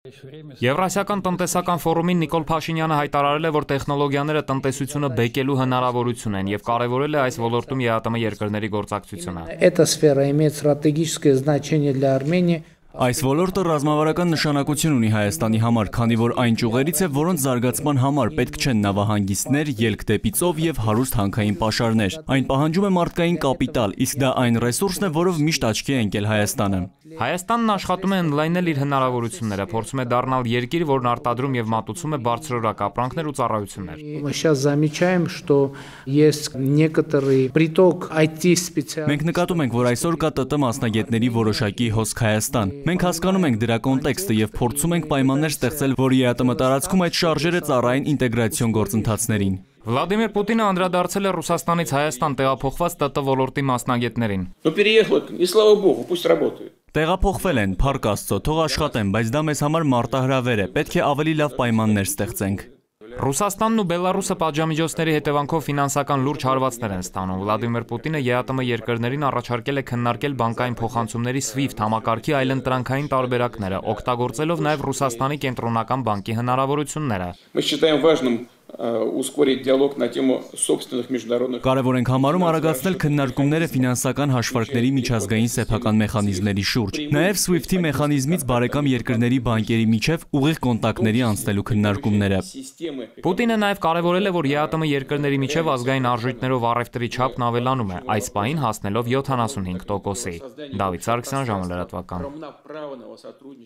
Եվրասիական տնտեսական ֆորումին Նիկոլ Փաշինյանը հայտարարել է, որ տեխնոլոգիաները տնտեսությունը բեկելու հնարավորություն են եւ կարեւորել է այս ոլորտում ԵԱՏՄ երկրների գործակցությունը։ Այս ոլորտը ռազմավարական նշանակություն ունի Հայաստանի համար, քանի որ այն ճյուղերից է, որոնց զարգացման համար պետք չեն նավահանգիստներ, ելք դեպի ծով եւ հարուստ հանքային պաշարներ։ Այն պահանջում է մարդկային կապիտալ, իսկ դա այն ռեսուրսն է, որով միշտ աչքի է ընկել Հայաստանը։ Հայաստանն աշխատում է ընդլայնել իր հնարավորությունները, փորձում է դառնալ երկիր, որն արտադրում եւ մատուցում է բարձրորակ ապրանքներ ու ծառայություններ։ Մենք նկատում ենք, որ այսօր կա ՏՏ մասնագետների որոշակի հոսք Հայաստան։ Մենք հասկանում ենք դրա կոնտեքստը եւ փորձում ենք պայմաններ ստեղծել, որ ԵԱՏՄ տարածքում այդ շարժերը ծառայեն ինտեգրացիոն գործընթացներին։ Վլադիմիր Պուտինը անդրադարձել է Ռուսաստանից Հայաստան տեղափոխված ՏՏ ոլորտի մասնագետներին։ Տեղափոխվել են, փառք Աստծո, թող աշխատեն, բայց դա մեզ համար մարտահրավեր է, պետք է ավելի լավ պայմաններ ստեղծենք։ Ռուսաստանն ու Բելարուսը պատժամիջոցների հետևանքով ֆինանսական լուրջ հարվածներ են ստանում։ Վլադիմիր Պուտինը ԵԱՏՄ երկրներին առաջարկել է քննարկել բանկային փոխանցումների SWIFT համակարգի այլընտրանքային տարբերակները, օգտագործելով նաև Ռուսաստանի կենտրոնական բանկի հնարավորությունները։ Կարևոր ենք համարում արագացնել քննարկումները ֆինանսական հաշվարկների միջազգային սեփական մեխանիզմների շուրջ, նաև SWIFT-ի մեխանիզմից բարեկամ երկրների բանկերի միջև ուղիղ կոնտակտների անցնելու քննարկումները։ Պուտինը նաև կարևորել է, որ ԵԱՏՄ երկրների միջև ազգային արժույթներով առևտրի չափն ավելանում է, այս պահին հասնելով 75%-ի։ Դավիթ Սարգսյան, ժամը լրատվական։